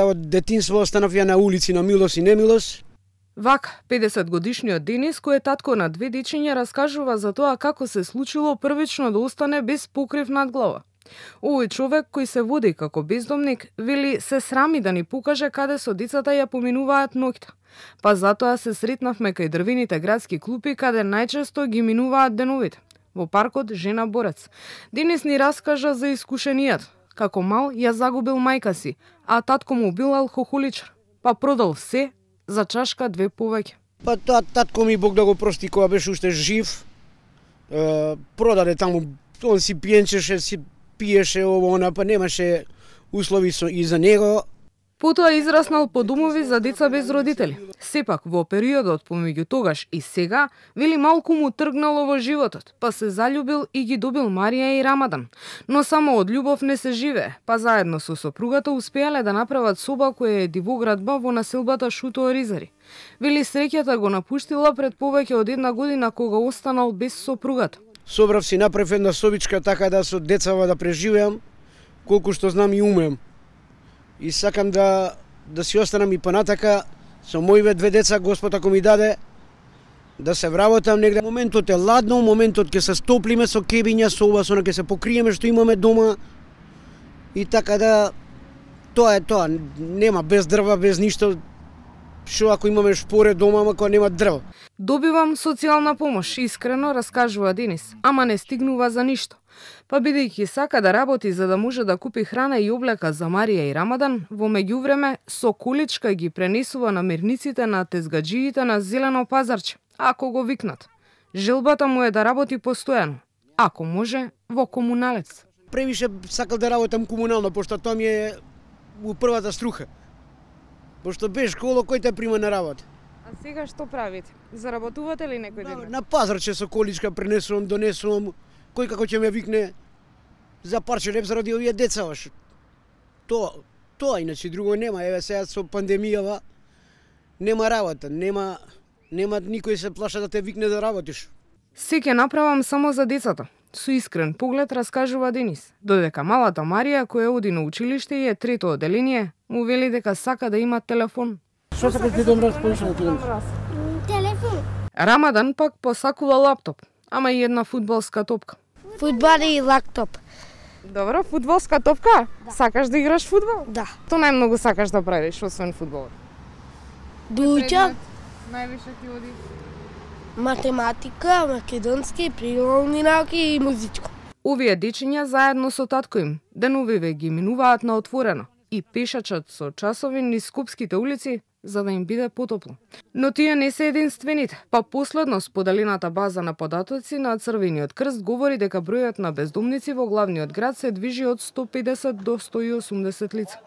Од детинство останав ја на улици на милост и немилост. Вака, 50-годишниот Денис, кој е татко на две дечиња, раскажува за тоа како се случило првично да остане без покрив над глава. Овој човек, кој се води како бездомник, вели се срами да ни покаже каде со децата ја поминуваат ноќта. Па затоа се сретнавме кај дрвените градски клупи, каде најчесто ги минуваат деновите. Во паркот Жена Борец. Денис ни раскажа за искушенијата. Како мал ја загубил мајка си, а татко му бил алкохоличар. Па продал се за чашка две повеќе. Па татко ми, Бог да го прости, кога беше уште жив, продаде таму, он си пиенчеше, си пиеше ово, она, па немаше услови и за него. Потоа израснал по домови за деца без родители. Сепак, во периодот помеѓу тогаш и сега, вели малку му тргнало во животот, па се заљубил и ги добил Марија и Рамадан. Но само од љубов не се живее, па заедно со сопругата успеале да направат соба која е дивоградба во населбата Шуто Оризари. Вели среќата го напуштила пред повеќе од една година кога останал без сопругата. Собрав си направив една собичка така да со децава да преживеам, колку што знам и умеам. И сакам да си останам и понатака со моиве две деца, Господ ако ми даде, да се вработам негде. Моментот е ладно, моментот ќе се стоплиме со кебиња, со ова, со она ќе се покриеме што имаме дома. И така да, тоа е тоа, нема без дрва, без ништо. Шо ако имаме шпоре дома, ама кога нема дрва. Добивам социјална помош, искрено раскажува Денис, ама не стигнува за ништо. Па бидејќи сака да работи за да може да купи храна и облека за Марија и Рамадан, во меѓувреме со количка ги пренесува намирниците на тезгаџиите на Зелено пазарче, ако го викнат. Желбата му е да работи постојано, ако може во комуналец. Превише сакал да работам комунално, пошто тоа ми е у првата струха. Пошто без школа, кој те прима на работа? А сега што правите? Заработувате ли некој ден? На пазарче со количка пренесувам, донесувам, кој како ќе ме викне за парче леп заради овие деца. Тоа иначе друго нема. Еве сега со пандемијава нема работа, нема никој се плаша да те викне да работиш. Се ќе направам само за децата. Со искрен поглед раскажува Денис, додека малата Марија, која оди на училиште и е трето оделение, му вели дека сака да има телефон. Што сакаш да дам разположено Телефон. Рамадан пак посакува лаптоп, ама и една фудбалска топка. Фудбал и лаптоп. Добро, фудбалска топка? Да. Сакаш да играш фудбал? Да. Што најмногу сакаш да правиш освен фудбал? Да учам Највише ти оди? математика, македонски, природни науки и музичко. Овие дечиња заедно со татко им деновиве ги минуваат на отворено и пешачат со часови низ скопските улици за да им биде потопло. Но тие не се единствените. Па последно споделената база на податоци на Црвениот крст говори дека бројот на бездомници во главниот град се движи од 150 до 180 лица.